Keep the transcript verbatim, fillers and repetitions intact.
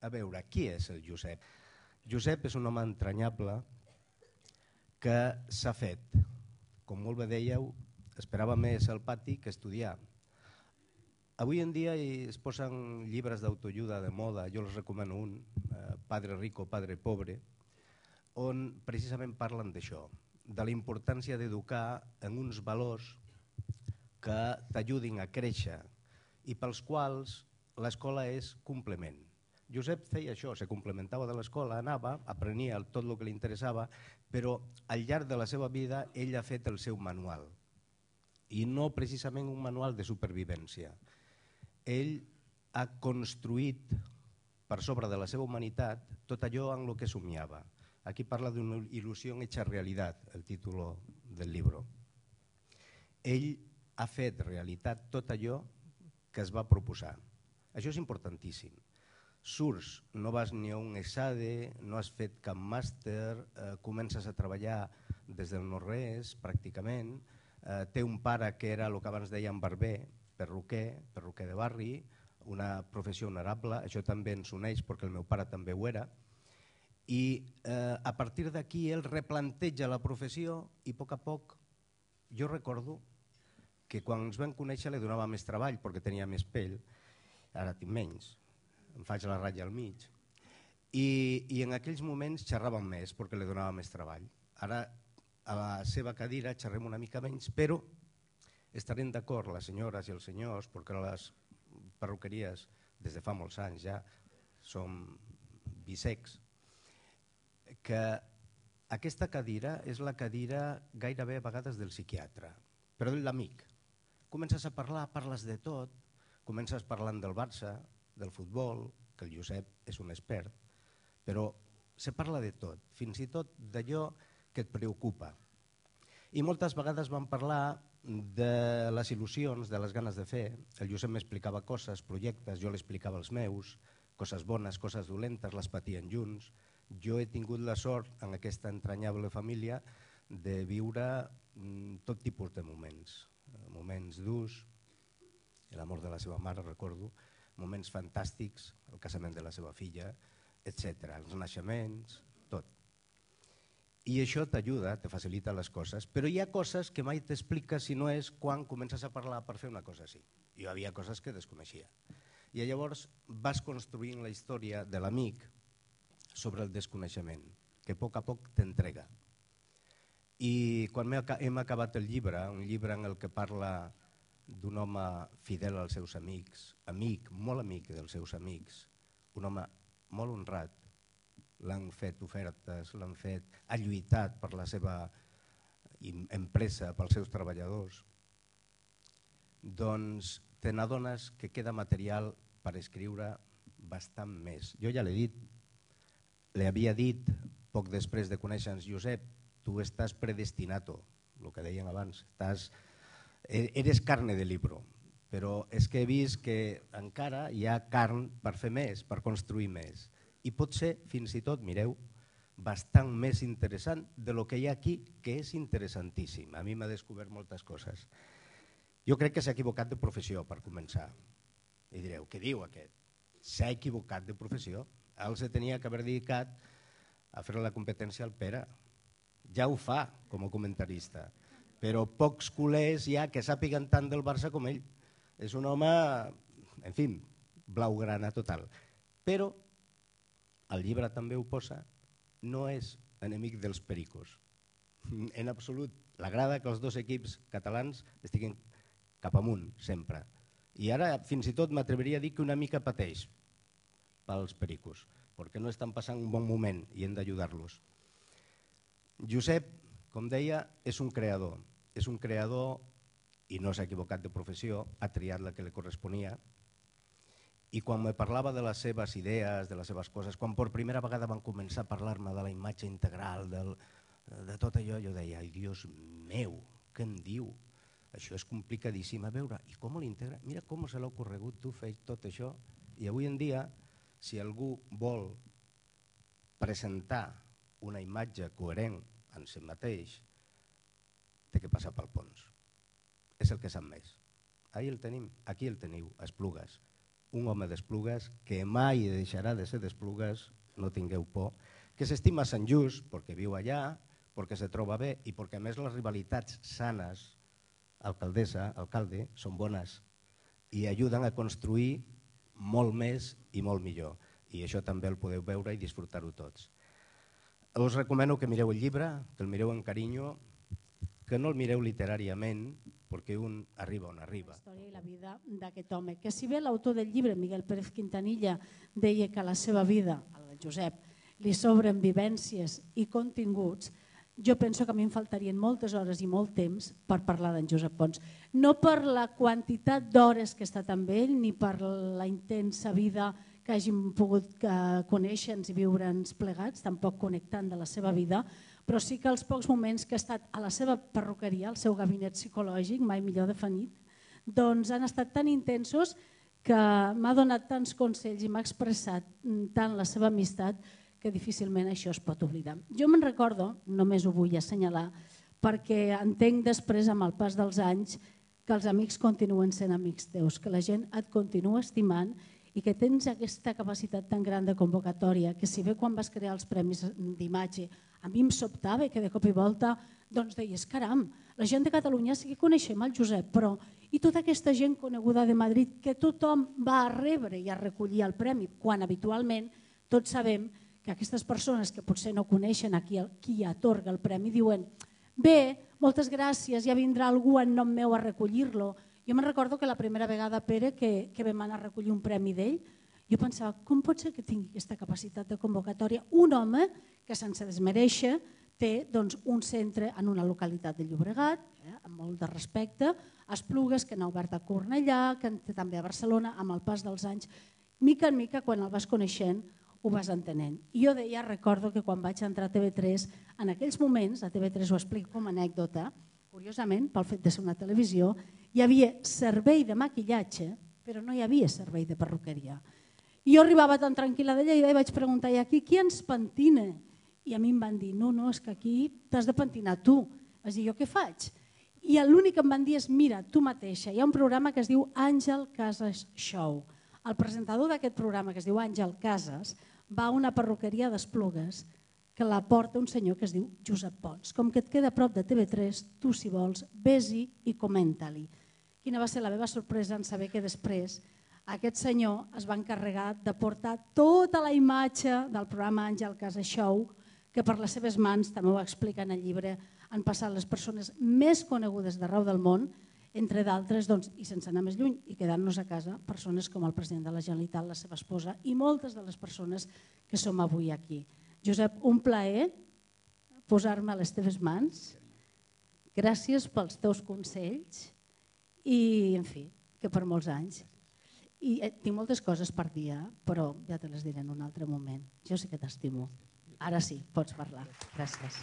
A veure, qui és el Josep? Josep és un home entranyable que s'ha fet, com molt bé dèieu, esperava més al pati que estudiar. Avui en dia es posen llibres d'autoajuda de moda, jo els recomano un, Padre Rico, Padre Pobre, on precisament parlen d'això, de la importància d'educar en uns valors que t'ajudin a créixer i pels quals l'escola és complement. Josep feia això, se complementava de l'escola, anava, aprenia tot el que li interessava, però al llarg de la seva vida ell ha fet el seu manual, i no precisament un manual de supervivència. Ell ha construït per sobre de la seva humanitat tot allò en el que somiava. Aquí parla d'una il·lusió hecha realitat, el títol del llibre. Ell ha fet realitat tot allò que es va proposar. Això és importantíssim. Surts, no vas ni a un ESADE, no has fet cap màster, eh, comences a treballar des del no-res, pràcticament. Eh, té un pare que era el que abans dèiem barber, perruquer, perruquer de barri, una professió honorable, això també ens uneix perquè el meu pare també ho era. I eh, a partir d'aquí ell replanteja la professió i a poc a poc, jo recordo que quan ens vam conèixer li donava més treball perquè tenia més pell, ara tinc menys, em faig la ratlla al mig, i, i en aquells moments xerràvem més perquè li donava més treball. Ara a la seva cadira xerrem una mica menys, però estarem d'acord les senyores i els senyors, perquè les perruqueries des de fa molts anys ja som bisecs, que aquesta cadira és la cadira gairebé a vegades del psiquiatre, però de l'amic. Comences a parlar, parles de tot, comences parlant del Barça, del futbol, que el Josep és un expert, però se parla de tot, fins i tot d'allò que et preocupa. I moltes vegades vam parlar de les il·lusions, de les ganes de fer. El Josep m'explicava coses, projectes, jo l'explicava els meus, coses bones, coses dolentes, les patien junts. Jo he tingut la sort en aquesta entranyable família de viure tot tipus de moments. Moments durs, l'amor de la seva mare, recordo, moments fantàstics, el casament de la seva filla, etcètera, els naixements, tot. I això t'ajuda, te facilita les coses, però hi ha coses que mai t'expliques si no és quan comences a parlar per fer una cosa així. Jo hi havia coses que desconeixia. I llavors vas construint la història de l'amic sobre el desconeixement, que a poc a poc t'entrega. I quan hem acabat el llibre, un llibre en el que parla d'un home fidel als seus amics, amic, molt amic dels seus amics, un home molt honrat, l'han fet ofertes, l'han fet, ha lluitat per la seva empresa, pels seus treballadors, doncs te n'adones que queda material per escriure bastant més. Jo ja l'he dit, li havia dit poc després de conèixer-nos, Josep, tu estàs predestinato, el que deien abans, estàs, eres carne de libro, però és que he vist que encara hi ha carn per fer més, per construir més. I pot ser, fins i tot, mireu, bastant més interessant de lo que hi ha aquí, que és interessantíssim. A mi m'ha descobert moltes coses. Jo crec que s'ha equivocat de professió, per començar. I direu, què diu aquest? S'ha equivocat de professió. Ell se tenia que haver dedicat a fer la competència al Pere. Ja ho fa com a comentarista, però pocs culers hi ha que sàpiguen tant del Barça com ell. És un home, en fi, blaugrana total. Però el llibre també ho posa, no és enemic dels pericos. En absolut. L'agrada que els dos equips catalans estiguin cap amunt, sempre. I ara fins i tot m'atreviria a dir que una mica pateix pels pericos, perquè no estan passant un bon moment i hem d'ajudar-los. Josep, com deia, és un creador. És un creador i no s'ha equivocat de professió, ha triat la que li corresponia. I quan me parlava de les seves idees, de les seves coses, quan per primera vegada van començar a parlar-me de la imatge integral, de tot allò, jo deia, ai, Dios meu, què em diu? Això és complicadíssim a veure. I com l'integra? Mira com se l'ha ocorregut, tu fes tot això. I avui en dia, si algú vol presentar una imatge coherent en si mateix, té que passar pel Pons. És el que sap més. Ahí el tenim, aquí el teniu, a Esplugues. un home d'Esplugues, que mai deixarà de ser d'Esplugues, no tingueu por, que s'estima a Sant Just perquè viu allà, perquè se troba bé i perquè a més les rivalitats sanes, alcaldessa, alcalde, són bones i ajuden a construir molt més i molt millor. I això també el podeu veure i disfrutar-ho tots. Us recomano que mireu el llibre, que el mireu amb carinyo, que no el mireu literàriament, perquè un arriba on arriba. La història i la vida d'aquest home, que si bé l'autor del llibre, Miguel Pérez Quintanilla, deia que a la seva vida, al Josep, li sobren vivències i continguts, jo penso que a mi em faltarien moltes hores i molt temps per parlar d'en Josep Pons. No per la quantitat d'hores que he estat amb ell, ni per la intensa vida que hàgim pogut conèixer-nos i viure'ns plegats, tampoc connectant de la seva vida, però sí que els pocs moments que he estat a la seva perruqueria, al seu gabinet psicològic, mai millor definit, doncs han estat tan intensos que m'ha donat tants consells i m'ha expressat tant la seva amistat que difícilment això es pot oblidar. Jo me'n recordo, només ho vull assenyalar, perquè entenc després, amb el pas dels anys, que els amics continuen sent amics teus, que la gent et continua estimant i que tens aquesta capacitat tan gran de convocatòria, que si bé quan vas crear els premis d'imatge a mi em sobtava que de cop i volta doncs deies, caram, la gent de Catalunya sí que coneixem el Josep, però i tota aquesta gent coneguda de Madrid que tothom va a rebre i a recollir el premi, quan habitualment tots sabem que aquestes persones que potser no coneixen a qui, qui atorga el premi diuen bé, moltes gràcies, ja vindrà algú en nom meu a recollir-lo. Jo me'n recordo que la primera vegada, Pere, que, que vam anar a recollir un premi d'ell, jo pensava, com pot ser que tingui aquesta capacitat de convocatòria un home que sense desmereixer té doncs, un centre en una localitat de Llobregat, eh, amb molt de respecte, a Esplugues, que n'ha obert a Cornellà, que en té també a Barcelona, amb el pas dels anys, mica en mica, quan el vas coneixent, ho vas entenent. I jo deia, recordo que quan vaig entrar a T V tres, en aquells moments, a T V tres ho explico com a anècdota, curiosament, pel fet de ser una televisió, hi havia servei de maquillatge, però no hi havia servei de perruqueria. I jo arribava tan tranquil·la de Lleida i vaig preguntar, i aquí qui ens pentina? I a mi em van dir, no, no, és que aquí t'has de pentinar tu. Vaig dir, jo què faig? I l'únic que em van dir és, mira, tu mateixa, hi ha un programa que es diu Àngel Casas Show. El presentador d'aquest programa, que es diu Àngel Casas, va a una perruqueria d'Esplugues que la porta un senyor que es diu Josep Pons. Com que et queda a prop de T V tres, tu, si vols, vés-hi i comenta-li. Quina va ser la meva sorpresa en saber que després aquest senyor es va encarregar de portar tota la imatge del programa Àngel Casas Show, que per les seves mans, també ho explica en el llibre, han passat les persones més conegudes d'arreu del món, entre d'altres, i sense anar més lluny i quedant-nos a casa, persones com el president de la Generalitat, la seva esposa i moltes de les persones que som avui aquí. Josep, un plaer posar-me a les teves mans. Gràcies pels teus consells i, en fi, que per molts anys. I tinc moltes coses per dir, però ja te les diré en un altre moment. Jo sí que t'estimo. Ara sí, pots parlar. Gràcies.